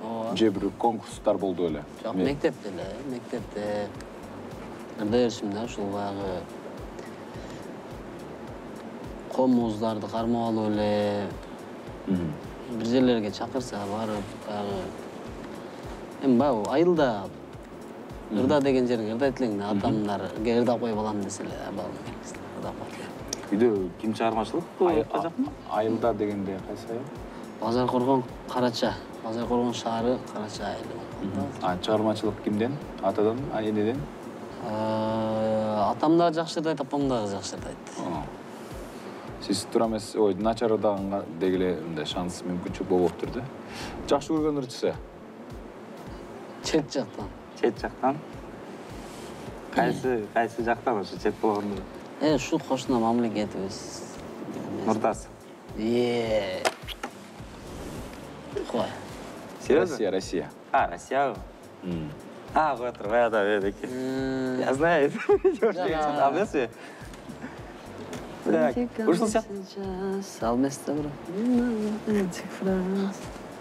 [SPEAKER 14] Ооба.
[SPEAKER 13] Же бир конкурстар болду эле?
[SPEAKER 14] Жок, мектепте эле, мектепте. Ырда беришим да, ушул баягы комуздарды кармап алып эле бир жерлерге чакырса барып, баягы эми баягы айылда ырда деген жерге ырдайт элең да, атамдарга ырдап коюп алам десе эле, балым ырдап коет эле.
[SPEAKER 15] Үйдө ким чыгармачылык жакмы?
[SPEAKER 13] Айылда дегенде кайсы айыл?
[SPEAKER 14] Базар Коргон, Карача. Базар Коргон шаары, Карача айылы.
[SPEAKER 13] А чыгармачылык кимден? Атадан, энеден?
[SPEAKER 14] Атам да жакшы ырдайт, апам да жакшы ырдайт.
[SPEAKER 13] Сиз туура эмес, ой, начар ырдаганга дегеле мындай шанс, мүмкүнчүлүк болуптур да. Жакшы көргөн ырчысы?
[SPEAKER 14] Чет жактан.
[SPEAKER 15] Чет жактан? Кайсы, кайсы жактан ошо чет болгондо?
[SPEAKER 14] Э, ушул кошуна мамлекетибиз.
[SPEAKER 15] Нуртас.
[SPEAKER 14] Е. Кой.
[SPEAKER 13] Россия, Россия.
[SPEAKER 15] А, Россия. А, вот, рада, ведеки. Я знаю. А эмеспи? Так, ушул сыяктуу.
[SPEAKER 14] Салместа бир.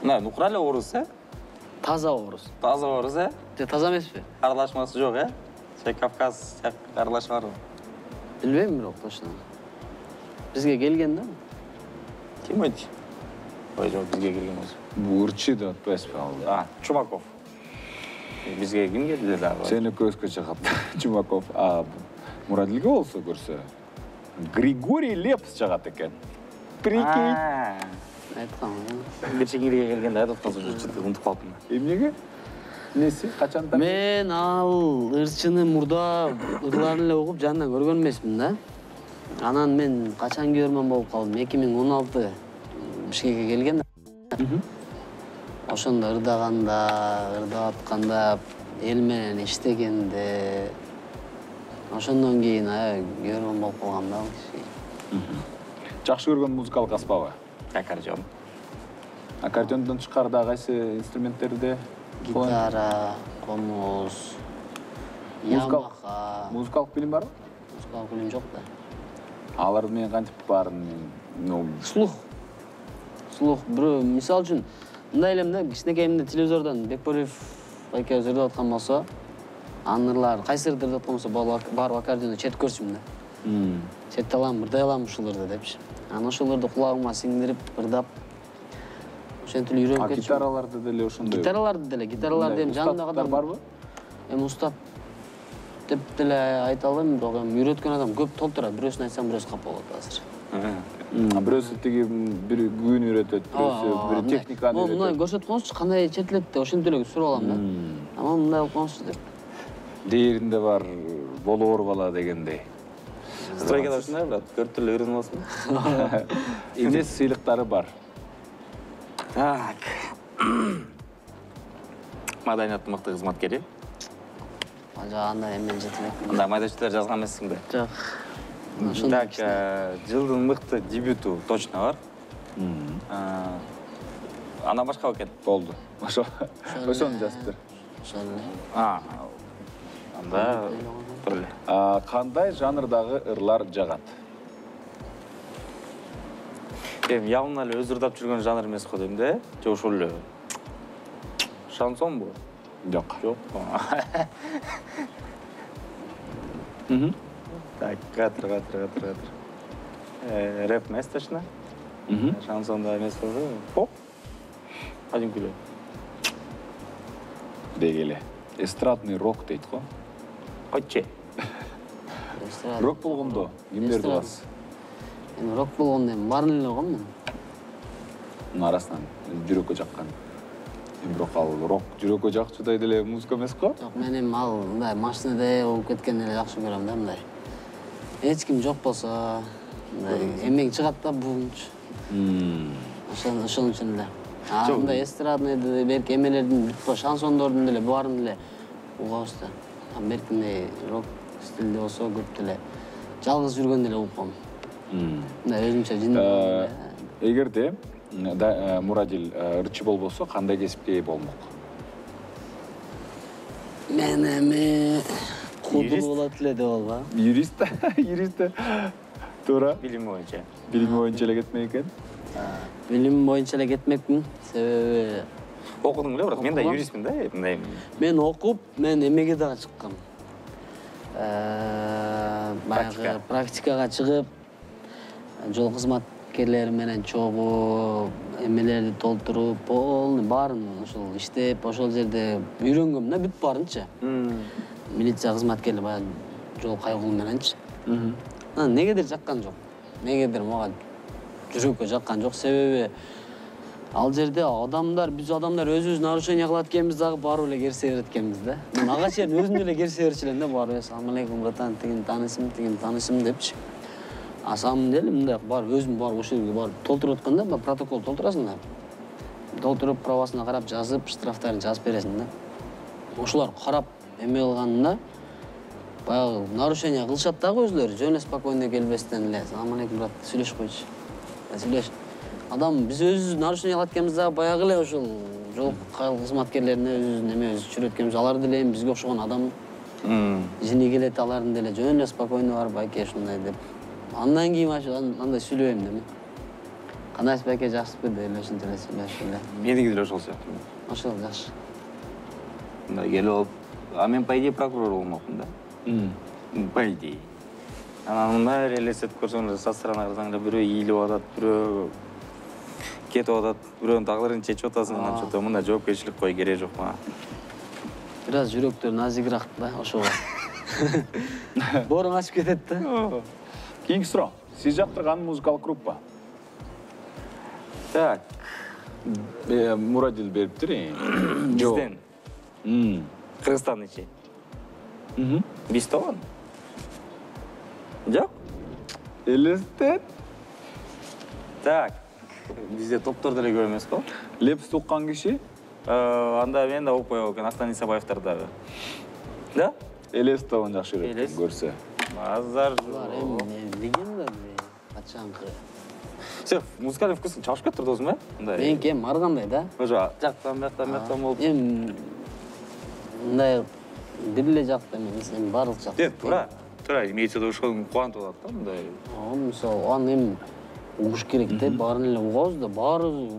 [SPEAKER 15] Мына, нукура эле орус, э?
[SPEAKER 14] Таза орус.
[SPEAKER 15] Таза орус, э?
[SPEAKER 14] Же таза эмеспи?
[SPEAKER 15] Аралашмасы жок, э? Же Кавказ аралашма барбы?
[SPEAKER 14] Билбейм бирок точно. Бизге келген да.
[SPEAKER 15] Ким айт? Ой, жок, бизге келген болсо.
[SPEAKER 13] Бул ырчы деп атпайсызбы ал?
[SPEAKER 15] А, Чумаков. Бизге ким келди дагы?
[SPEAKER 13] Сени көзгө чыгат. Чумаков. А Мурадилге болсо көрсө Григорий Лепс чыгат экен. Прикинь.
[SPEAKER 14] Айткам.
[SPEAKER 15] Бирчеңиге келгенде айтып аткансың, чынтып унутуп калдым.
[SPEAKER 13] Эмнеге? Неси? Качандан?
[SPEAKER 14] Мен ал ырчыны мурда ырларын эле угуп жанынан көргөн эмесмин да. Анан мен качан көрмөн болуп калдым. эки миң он алты Бишкекке келген. Ошондо ырдаганда, ырдап атканда, эл менен иштегенде, ошондон кийин көргөн болуп калгам да.
[SPEAKER 13] Жакшы көргөн музыкалык аспабы?
[SPEAKER 15] Аккордеон.
[SPEAKER 13] Аккордеондон тышкарыда кайсы инструменттерде?
[SPEAKER 14] Гитара, комуз, ямаха.
[SPEAKER 13] Музыкалык билим барбы?
[SPEAKER 14] Музыкалык билим жок да.
[SPEAKER 13] Алар менен кантип баарын, ну,
[SPEAKER 14] слух. Слух, бирөө мисал үчүн мындай элем да, кичинекейимде телевизордон Бекболиев экөөбүз ырдап аткан болсо, анын ырлары кайсы ырды ырдап аткан болсо, барып аккордеондо чет көрчүмүн да. Четти алам, ырдай алам ушул ырды депчи. Анан ошол ырды кулагыма сиңдирип, ырдап ошентип үйрөнүп кетчүмүн.
[SPEAKER 13] А гитараларды деле ошондой?
[SPEAKER 14] Гитараларды деле, гитараларды эми жанымдагы адам
[SPEAKER 13] барбы?
[SPEAKER 14] Эми устат деп деле айта албайм, бирок эми үйрөткөн адам көп толтурат. Бирөөсүн айтсам, бирөөсү капа болот азыр.
[SPEAKER 13] Бирөөсү тиги бир күн үйрөтөт, бирөөсү бир техниканы үйрөтөт.
[SPEAKER 14] Мындай көрсөткөнсү кандай чертилет деп ошентип эле сурап алам да. Ama мындай болуп калсыз деп.
[SPEAKER 13] Дээринде бар болоор бала дегендей.
[SPEAKER 15] Стройкада ушундай брат, төрт түрлүү үйрөнүп аласың.
[SPEAKER 13] Эмес сыйлыктары бар.
[SPEAKER 15] Так. Маданияттын мыкты кызматкери.
[SPEAKER 14] Ажаганда эмен жетелек.
[SPEAKER 15] Мындай майда-чүйдөр жазган эмессиң да?
[SPEAKER 14] Жок.
[SPEAKER 15] Так, жылдын мыкты дебюту точно бар. Андан башка бекен?
[SPEAKER 13] Болду. Ошо. Ошону жазып бер.
[SPEAKER 14] Ошону.
[SPEAKER 15] А, анда тур эле.
[SPEAKER 13] Кандай жанрдагы ырлар жагат?
[SPEAKER 15] Эми явно эле өз ырдап жүргөн жанр эмес го дейм да, же ошол эле. Шансонбу?
[SPEAKER 13] Жок.
[SPEAKER 15] Жок. Мм. Так, катыр, катыр, катыр, катыр. Э, рэп эмес точно. Мм. Шансонда эмес болсо, поп. Один күлө.
[SPEAKER 13] Дегеле. Эстрадный рок дейт го.
[SPEAKER 15] Койчу.
[SPEAKER 13] Рок болгондо кимдерди бас?
[SPEAKER 14] Эми рок болгондо эми баарын эле го мен.
[SPEAKER 13] Мунун арасынан жүрөккө жаккан. Бирок ал рок жүрөккө жакчудай деле музыка эмес го?
[SPEAKER 14] Жок, мен эми ал мындай машинада болуп кеткен эле жакшы көрөм да мындай. Эч ким жок болсо, мындай эмең чыгат да буунч. Ошон ошон үчүн эле. А мындай эстрадный берки эмелердин бүт шансондордун деле баарын деле угабыз да. Берки мындай рок стилде болсо көп деле жалгыз жүргөн деле угуп калам. Мындай өзүмчө жин.
[SPEAKER 13] Эгерде Мурадил ырчы болбосо кандай кесипке ээ болмок?
[SPEAKER 14] Мен эми кудур болот эле деп алба.
[SPEAKER 13] Юрист, юрист. Туура.
[SPEAKER 15] Билими боюнча.
[SPEAKER 13] Билими боюнча эле кетмек экен.
[SPEAKER 14] Билим боюнча эле кетмекмин. Себеби
[SPEAKER 15] окудуң эле, бирок мен да юристмин да, мындай.
[SPEAKER 14] Мен окуп, мен эмеге дагы чыккам. Э, баягы практикага чыгып, жол кызматкерлери менен чогуу эмелерди толтуруп, полный баарын ошол иштеп, ошол жерде үйрөнгөм да бүт баарынчы. Милиция кызматкерлери баягы жол кайгылуу мененчи. Негедир жаккан жок. Негедир мага жүрөккө жаккан жок, себеби ал жерде адамдар, биз адамдар өзүбүз нарушение кылат экенбиз дагы барып эле керсе берет экенбиз да. Мен ага чейин өзүм эле керсе берчү элем да, барып ассалам алейкум братан, тигин таанысым, тигин таанысым депчи. А самом деле мындай барып өзүм барып ошол жерге барып толтуруп атканда, протокол толтурасың да. Толтуруп правасына карап жазып, штрафтарын жазып бересиң да. Ошолар карап эме кылганда баягы нарушение кылышат дагы өзүлөрү, жөн эле спокойно келбестен эле. Ассалам алейкум брат, сүйлөшүп койчу. Сүйлөш. Адам биз өзүбүз нарушение кылат экенбиз дагы баягы эле ошол жол кызматкерлерине өзүбүздүн эме өзүбүз жүрөт экенбиз. Алар деле эми бизге окшогон адам. Жини келет, алардын деле жөн эле спокойно барып байке ушундай деп. Андан кийин андай сүйлөбөйм да мен. Кандайсыз байке, жакшысызбы деп эле ушинтип эле сүйлөшүп эле.
[SPEAKER 15] Меники деле ошол сыяктуу.
[SPEAKER 14] Ошол жакшы.
[SPEAKER 15] Мындай келип алып, а мен по идее прокурор болмокмун да. По идее. Анан мындай элестетип көрсөңүз, со стороны карасаңыз, бирөө ийилип атат, бирөө кетип атат, бирөөнүн тагдырын чечип атасың, анан что-то мындай жоопкерчилик кой кереги жок мага.
[SPEAKER 14] Бир аз жүрөктөр назигирак да, ошого. Бооруң ачып кетет да.
[SPEAKER 13] Кийинки суроо. Сиз жактырган музыкалык группа?
[SPEAKER 15] Так.
[SPEAKER 13] Мурадил бериптир.
[SPEAKER 15] Бизден. Кыргызстан ичи. Биз тогон. Жок?
[SPEAKER 13] Элестет.
[SPEAKER 15] Так. Бизде топтор деле көп эмес го.
[SPEAKER 13] Лепс уккан киши?
[SPEAKER 15] Анда мен да укпай экен, Астан Исабаевтар дагы. Да?
[SPEAKER 13] Элес тогон жакшы көрсө.
[SPEAKER 15] Базар.
[SPEAKER 14] Легенда качанкы.
[SPEAKER 15] Сен музыкалый вкусун чалышып кетип турдуңузбу? Мындай.
[SPEAKER 14] Меники эми ар кандай да.
[SPEAKER 15] Ошо жактан, бияктан, бияктан болуп.
[SPEAKER 14] Эми мындай бир эле жакта эмес, эми баардык жакта.
[SPEAKER 15] Э, туура. Туура, имеется ошол кубантып атат да мындай.
[SPEAKER 14] Мисалы, аны эми угуш керек да, баарын эле угабыз да, баары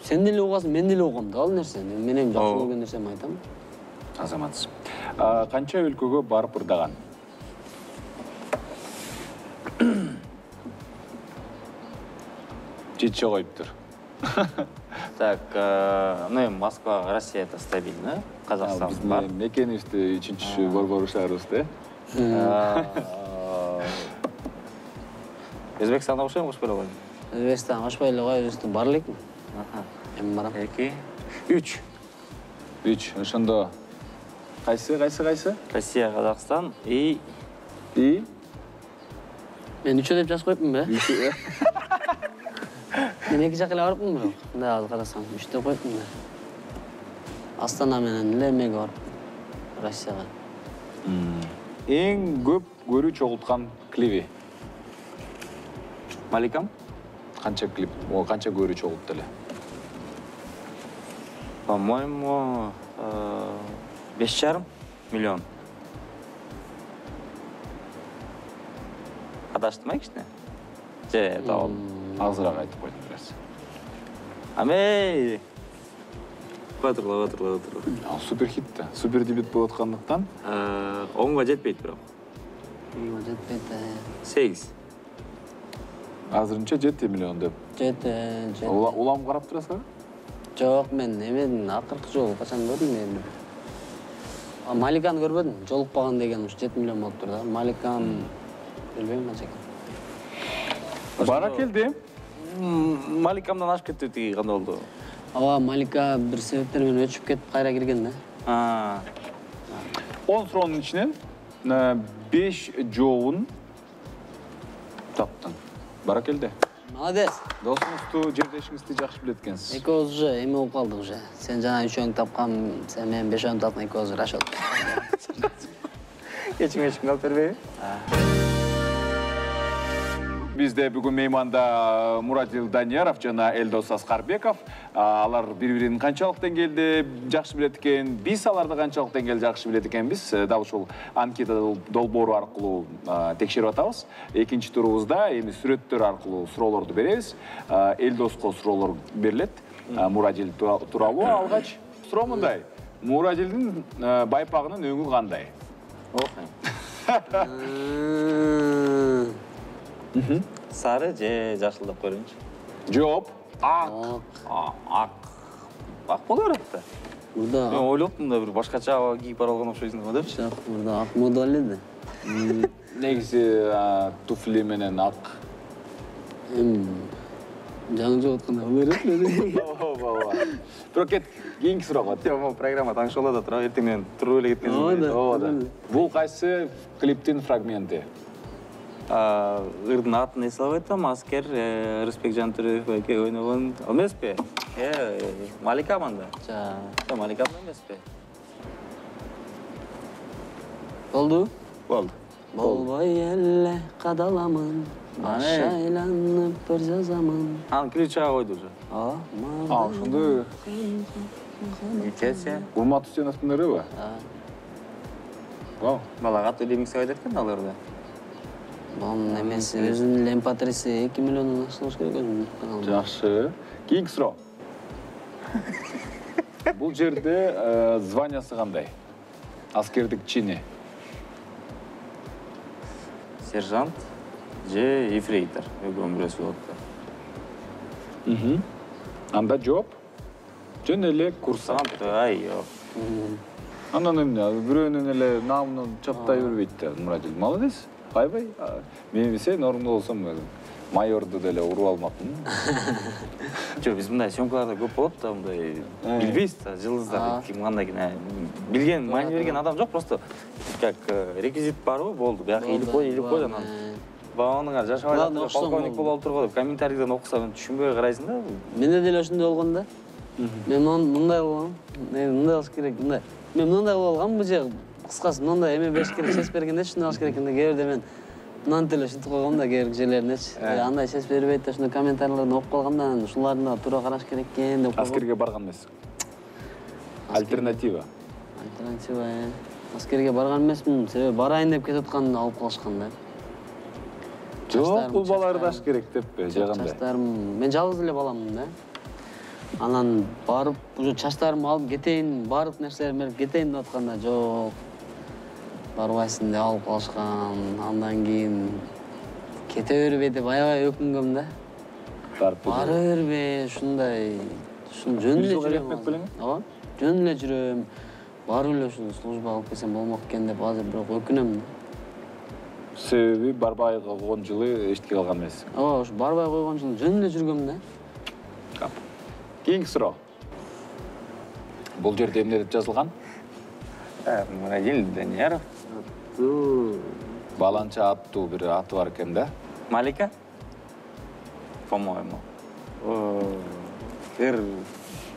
[SPEAKER 14] сен деле угасың, мен деле угам да ал нерсени. Мен эми жакшы көргөн нерсеми айтам.
[SPEAKER 13] Азаматсыз. Канча өлкөгө барып ырдаган? Жетче коюптур.
[SPEAKER 15] Так, ну эми Москва, Россия это стабильно, Казакстан бар.
[SPEAKER 13] Биздин мекенибизди үчүнчү борбору шаарыбыз да.
[SPEAKER 15] Өзбекстанда окшойм, кошпой эле койдум.
[SPEAKER 14] Өзбекстанга кошпой эле кой, өзбекстан бар элекмин. Эми барам.
[SPEAKER 15] эки, үч.
[SPEAKER 13] үч. Ошондо кайсы, кайсы, кайсы?
[SPEAKER 15] Россия, Казакстан и
[SPEAKER 13] и
[SPEAKER 14] мен үчөө деп жазып коюпмун бе? Мен эки жака эле барыпмын бирок. Мындай азыр карасаң, үч деп коюпмун да. Астана менен эле эмеге барып, Россияга.
[SPEAKER 13] Эң көп көрүү чогулткан клиби?
[SPEAKER 15] Маликам?
[SPEAKER 13] Канча клип, о канча көрүү чогултtu эле?
[SPEAKER 15] По-моему, беш жарым миллион. Адаштым а кичине? Же, табал.
[SPEAKER 13] Азыраак айтып койдум бир аз.
[SPEAKER 15] Амей! Батырлап, батырлап, батырлап.
[SPEAKER 13] Ал супер хит да. Супер дебют болуп аткандыктан
[SPEAKER 15] онго жетпейт бирок.
[SPEAKER 14] онго жетпейт да.
[SPEAKER 15] сегиз.
[SPEAKER 13] Азырынча жети миллион деп.
[SPEAKER 14] жети, жети.
[SPEAKER 13] Улам карап турасызбы?
[SPEAKER 14] Жок, мен эмедин акыркы жолу качан көрдүм мен. Маликаны көрбөдүм. Жолукпаган деген ушу жети миллион болуптур да. Маликан билбейм канча экен.
[SPEAKER 13] Баракелди.
[SPEAKER 15] Маликамдан ашып кетти тиги кандай болду?
[SPEAKER 14] Ооба, Малика бир себептер менен өчүп кетип кайра кирген да.
[SPEAKER 13] он суроонун ичинен беш жообун таптың. Баракелде.
[SPEAKER 14] Молодец.
[SPEAKER 13] Досуңузду, жердешиңизди жакшы билет экенсиз.
[SPEAKER 14] Экөөбүз уже эме болуп калдык уже. Сен жана үчөөңдү тапкан, сен менен бешөөңдү таптың, экөөбүз расчет.
[SPEAKER 15] Кечиң эчкиң алып бербейби?
[SPEAKER 13] Бизде бүгүн мейманда Мурадил Данияров жана Элдос Аскарбеков. Алар бири-бирин канчалык деңгээлде жакшы билет экен, биз аларды канчалык деңгээлде жакшы билет экенбиз дал ушул анкета долбоору аркылуу текшерип атабыз. Экинчи турубузда эми сүрөттөр аркылуу суроолорду беребиз. Элдоско суроолор берилет. Мурадил тууралуу алгач суроо мындай. Мурадилдин байпагынын өңү кандай?
[SPEAKER 15] Сары же жашыл деп көрөйүнчү.
[SPEAKER 13] Жооп. Ак.
[SPEAKER 15] Ак. Ак боло берет да.
[SPEAKER 14] Мурда.
[SPEAKER 15] Мен ойлоптум да бир башкача аба кийип бара алган окшойсуң депчи.
[SPEAKER 14] Жок, мурда ак мода эле.
[SPEAKER 13] Негизи туфли менен ак.
[SPEAKER 14] Жаңы жок атканда боло берет.
[SPEAKER 13] Ооба. Бирок кет, кийинки суроого.
[SPEAKER 15] Жок, программа таңшоло да тура, эртеңден туруп эле кеткенсиң.
[SPEAKER 13] Ооба. Бул кайсы клиптин фрагменти?
[SPEAKER 15] Ырдын атын эсе албай атам, Аскер, Рыспек Жантүрөев эке ойногон эмеспи? Э, Малика мында. Жа, Малика эмеспи?
[SPEAKER 14] Болду?
[SPEAKER 15] Болду.
[SPEAKER 14] Болбой эле кадаламын, баш айланып бир жазамын.
[SPEAKER 15] Аны ключага койду уже.
[SPEAKER 14] Ооба.
[SPEAKER 13] А, ошондой.
[SPEAKER 15] Ничесе?
[SPEAKER 13] Урмат Үсеновдун ырыбы? Вау.
[SPEAKER 15] Балага төлөймүк сөйдөт экен аларда.
[SPEAKER 14] Бон эмеси өзүнүн лемпатриси эки миллиондон ашыш керек өзүнүн.
[SPEAKER 13] Жакшы. Кийинки суроо. Бул жерде званиясы кандай? Аскердик чини.
[SPEAKER 15] Сержант же ефрейтор. Өгөн бирөөсү болот да.
[SPEAKER 13] Мм. Анда жооп? Жөн эле курсант.
[SPEAKER 15] Ай, жок.
[SPEAKER 13] Андан эмне? Бирөөнүн эле наамын чаптай бербейт да, Мурадил. Молодец. Айбай. Мен сен орунда болсом майорду деле уруп алмакмын.
[SPEAKER 15] Жок, биз мындай съемкаларда көп болот да, мындай билбейсиз да, жылдыздар ким кандай кине. Билген, маани берген адам жок, просто как реквизит барбы, болду. Бияка илип кой, илип кой анан. Баонуңар жашабай жатыр, полковник болуп турго деп комментарийден окусам түшүнбөй карайсың да.
[SPEAKER 14] Менде деле ошондой болгон да. Мен мындай болгом. Мен мындай болуш керек, мындай. Мен мындай болгом, бу же кыскасы мындай эме бериш керек, сес бергенде ушундай болуш керек экен да. Кээ бирде мен мынаны деле ушинтип койгом да, кээ бир жерлеринечи. Андай сес бербейт да, ушундай комментарийлерди окуп калганда анан ушулардын да туура караш керек экен деп койгом.
[SPEAKER 13] Аскерге барган эмес. Альтернатива.
[SPEAKER 14] Альтернатива. Аскерге барган эмесмин, себеби барайын деп кетип атканды алып калышкан да.
[SPEAKER 13] Жок, бул бала ырдаш керек деппи, же кандай?
[SPEAKER 14] Чачтарым, мен жалгыз эле баламмын да. Анан барып, уже чачтарымды алып кетейин, баардык нерселерди берип кетейин деп атканда жок. Барбайсың деп алып калышкан. Андан кийин кете бербей деп аябай өкүнгөм да. Бара бербей, ушундай, ушун жөн эле жүрөм. Ооба, жөн эле жүрөм. Барып эле ушул службага алып келсем болмок экен деп азыр бирок өкүнөм да.
[SPEAKER 13] Себеби барбай койгон жылы эчтеке калган эмес.
[SPEAKER 14] Ооба, ушу барбай койгон жылы жөн эле жүргөм да.
[SPEAKER 13] Кап. Кийинки суроо. Бул жерде эмне деп жазылган?
[SPEAKER 15] Мурадил Данияров.
[SPEAKER 13] Баланча аттуу бир аты бар экен да.
[SPEAKER 15] Малика? По-моему. Бир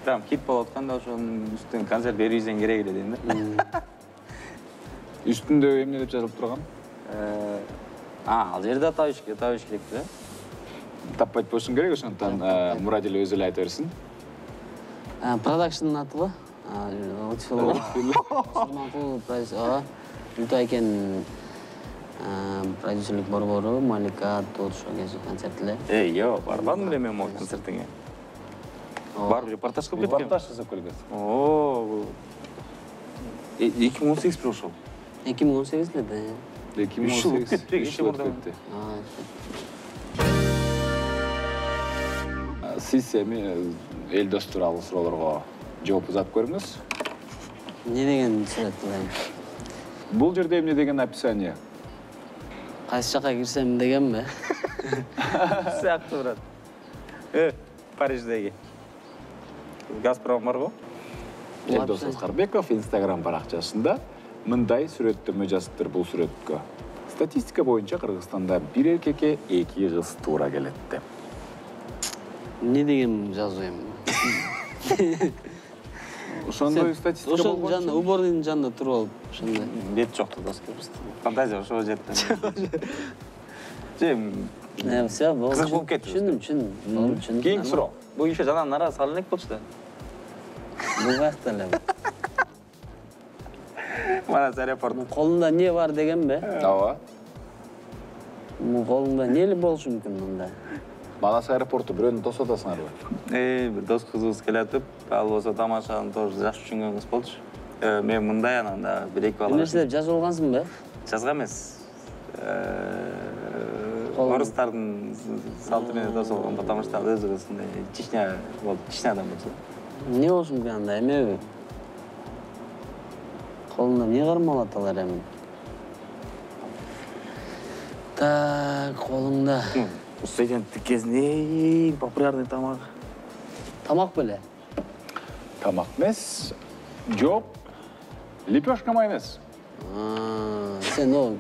[SPEAKER 15] прям хит болуп атканда ошонун үстүнөн концерт берүүсүң керек эле дейм да.
[SPEAKER 13] Үстүндө эмне деп жазылып турган?
[SPEAKER 15] А, ал жерде табыш керек, табыш керек да.
[SPEAKER 13] Таппайт болушуң керек, ошондон Мурадил өзү эле айта берсин.
[SPEAKER 14] Продакшндын аты го. Сулманкул продюсер. Үлтө экен продюсерлик борбору, Малика Тодшо кези концерт эле.
[SPEAKER 15] Эй, йо, барбадым эле мен могу концертиңе. Барып репортаж кылып кеткем.
[SPEAKER 13] Репортаж жасап келген.
[SPEAKER 15] Оо. эки миң он сегиз прошел.
[SPEAKER 14] эки миң он сегиз эле да.
[SPEAKER 13] эки миң он сегиз. үч жыл өтүп. Сиз эми Элдос тууралуу суроолорго жооп узатып көрүңүз.
[SPEAKER 14] Не деген сурет кылайын?
[SPEAKER 13] Бул жерде эмне деген описание?
[SPEAKER 14] Кайсы жака кирсем дегенби?
[SPEAKER 15] Сыяктуу турат. Э, Париждеги. Газпром бар го?
[SPEAKER 13] Элдос Аскарбеков Instagram баракчасында мындай сүрөттөрмө жазыптыр бул сүрөткө. Статистика боюнча Кыргызстанда бир эркекке эки кыз туура келет деп.
[SPEAKER 14] Не деген жазуу эми?
[SPEAKER 13] Ошондой статистика болгон.
[SPEAKER 14] Ошонун жанында, уборныйдын жанында туруп алып, ошондой.
[SPEAKER 15] Бет жокту доска. Фантазия ошого жетти. Жем.
[SPEAKER 14] Не, все, болду.
[SPEAKER 15] Кызык болуп кетти.
[SPEAKER 14] Түшүндүм, түшүндүм. Түшүндүм.
[SPEAKER 15] Кийинки суроо. Бул ишe жанагы нара салып элек болчу да.
[SPEAKER 14] Бул каякта эле?
[SPEAKER 15] Манас аэропорт.
[SPEAKER 14] Колунда не бар дегенби?
[SPEAKER 13] Ооба.
[SPEAKER 14] Мун колуңда эмне болушу мүмкүн мында?
[SPEAKER 13] Манас аэропорту бирөөнү дос атасыңарбы?
[SPEAKER 15] Э, бир дос кызыбыз келатып, ал болсо тамашаны тоже жакшы түшүнгөн кыз болчу. Э, мен мындай анан да бир-эки бала.
[SPEAKER 14] Эмнеси деп жазып алгансыңбы?
[SPEAKER 15] Жазган эмес. Орустардын салты менен дос болгон, потому что ал өзү ушундай чечня болуп, чечня адам болчу.
[SPEAKER 14] Эмне болушу мүмкүн анда, эмеби? Колунда эмне кармалат алар эми? Так, колуңда.
[SPEAKER 15] Студенттик кезинде эң популярный тамак.
[SPEAKER 14] Тамак беле?
[SPEAKER 13] Тамак эмес. Жооп. Лепешка майонез.
[SPEAKER 14] Сен о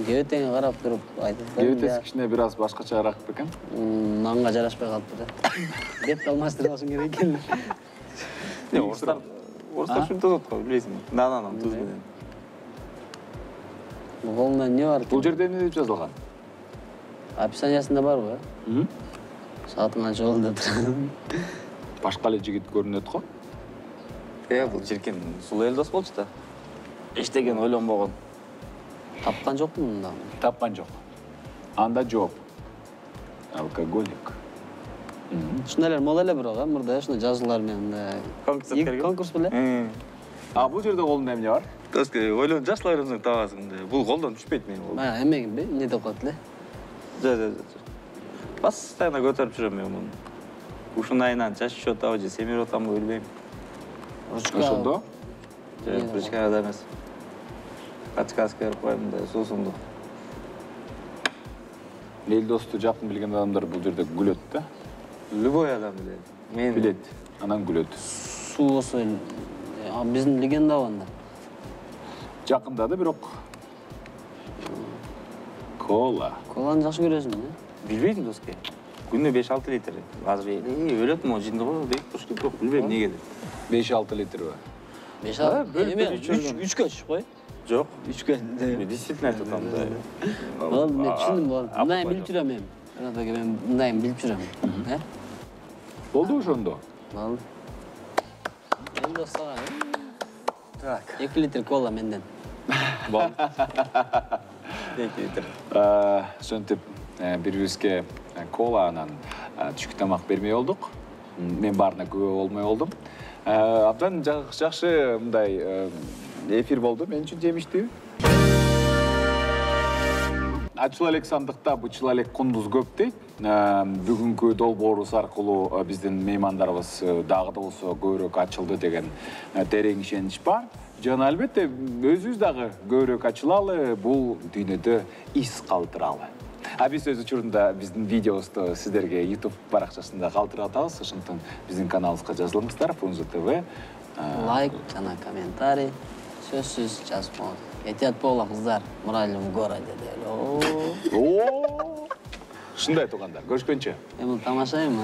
[SPEAKER 14] кебетеңе карап туруп айтып бердиң.
[SPEAKER 13] Кебетеси кичине бир аз башкачараак бекен.
[SPEAKER 14] Нанга жарашпай калыптыр да. Бетти алмаштырып алышың керек экен.
[SPEAKER 15] Не, орустар, орустар ушинтип атат го, билесиңби? Нананан туз менен.
[SPEAKER 14] Колуңда эмне бар?
[SPEAKER 13] Бул жерде эмне деп жазылган?
[SPEAKER 14] Описаниясында барбы? Саатың канча болду деп турат.
[SPEAKER 13] Башка эле жигит көрүнөт го.
[SPEAKER 15] Э, бул жиркен сулуу эл дос болчу да. Эчтеген ойлонбогон.
[SPEAKER 14] Тапкан жокмун мында?
[SPEAKER 13] Тапкан жок. Анда жооп. Алкоголик.
[SPEAKER 14] Ушундайлар мода эле бирок, мурда ушундай жазуулар менен конкурс беле?
[SPEAKER 13] А бул жерде колунда эмне бар?
[SPEAKER 15] Доска, ойлонуп жашла берсең табасың да. Бул колдон түшпөйт менин кол.
[SPEAKER 14] Баягы эмегимби? Эмне деп коет эле?
[SPEAKER 15] Жо, жо, жо. Постоянно көтөрүп жүрөм мен муну. Ушунун айынан чачып атабы же семирип атамбы билбейм.
[SPEAKER 13] Ошондо?
[SPEAKER 15] Жок, ручкада эмес. Качкаска берип коем да, суусундук.
[SPEAKER 13] Эл досту жакын билген адамдар бул жерде күлөт да.
[SPEAKER 15] Любой адам билет. Мен
[SPEAKER 13] билет, анан күлөт.
[SPEAKER 14] Суу болсо, биздин легенда анда.
[SPEAKER 13] Жакындады бирок. Кола.
[SPEAKER 14] Коланы жакшы көрөсүңбү?
[SPEAKER 15] Билбейм доска. Күнүнө беш алты литр. Азыр эле өлөт могу жинди го дейт туруш керек жок, билбейм эмнеге деп.
[SPEAKER 13] беш алты литрби?
[SPEAKER 14] беш алты? Эме үчкө түшүп кой.
[SPEAKER 15] Жок,
[SPEAKER 14] үчкө.
[SPEAKER 15] Действительно айтып атам да.
[SPEAKER 14] Болду, мен түшүндүм, болду. Мындайын билип жүрөм мен. Анатаге мен мындайын билип жүрөм. Э?
[SPEAKER 13] Болду ошондо.
[SPEAKER 14] Болду. Эл дос сага. Так. эки литр кола менден.
[SPEAKER 15] Болду. эки литр.
[SPEAKER 13] Ошентип бири-бирибизге кола анан түшкү тамак бермей болдук. Мен баарына күбө болмой болдум. Абдан жакшы мындай эфир болду, мен үчүн жемиштүү. Ачыл элек сандыкта бычыл элек кундуз көп дейт. Бүгүнкү долбоорубуз аркылуу биздин меймандарыбыз дагы да болсо көбүрөөк ачылды деген терең ишенич бар. Жана албетте өзүбүз дагы көбүрөөк ачылалы, бул дүйнөдө из калтыралы. А биз өз учурунда биздин видеобузду сиздерге YouTube баракчасында калтырып атабыз. Ошондон биздин каналыбызга жазылыңыздар, Фрунзе ТВ.
[SPEAKER 14] Лайк жана комментарий сөзсүз жазып коюңуз. Этият болуңуздар кыздар, мораль в городе деле.
[SPEAKER 13] Ошундай туугандар, көрүшкөнчө.
[SPEAKER 14] Эми тамашайм.